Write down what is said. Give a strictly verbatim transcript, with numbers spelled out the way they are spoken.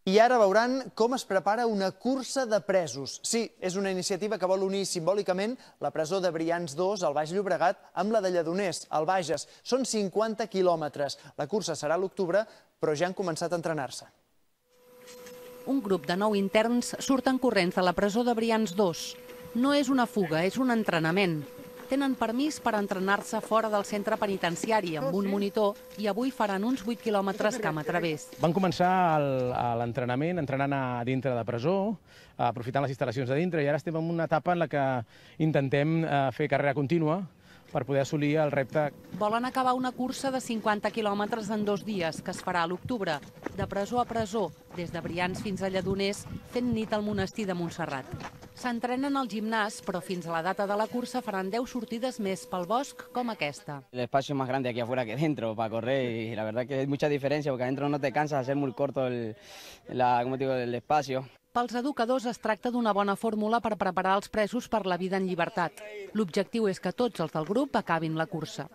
I ara veuran com es prepara una cursa de presos. Sí, és una iniciativa que vol unir simbòlicament la presó de Brians dos, al Baix Llobregat, amb la de Lledoners, al Bages. Són cinquanta quilòmetres. La cursa serà a l'octubre, però ja han començat a entrenar-se. Un grup de nou interns surten corrents de la presó de Brians dos. No és una fuga, és un entrenament. Tenen permís per entrenar-se fora del centre penitenciari amb un monitor i avui faran uns vuit quilòmetres camp a través. Van començar l'entrenament entrenant a dintre de presó, aprofitant les instal·lacions de dintre, i ara estem en una etapa en la que intentem fer carrera contínua per poder assolir el repte. Volen acabar una cursa de cinquanta quilòmetres en dos dies, que es farà a l'octubre, de presó a presó, des de Brians fins a Lledoners, fent nit al monestir de Montserrat. S'entrenen al gimnàs, però fins a la data de la cursa faran deu sortides més pel bosc com aquesta. El espacio es más grande aquí afuera que dentro para correr y la verdad que hay mucha diferencia porque adentro no te cansas, hacer muy corto el, la, ¿cómo te digo, el espacio. Pels educadors es tracta d'una bona fórmula per preparar els presos per la vida en llibertat. L'objectiu és que tots els del grup acabin la cursa.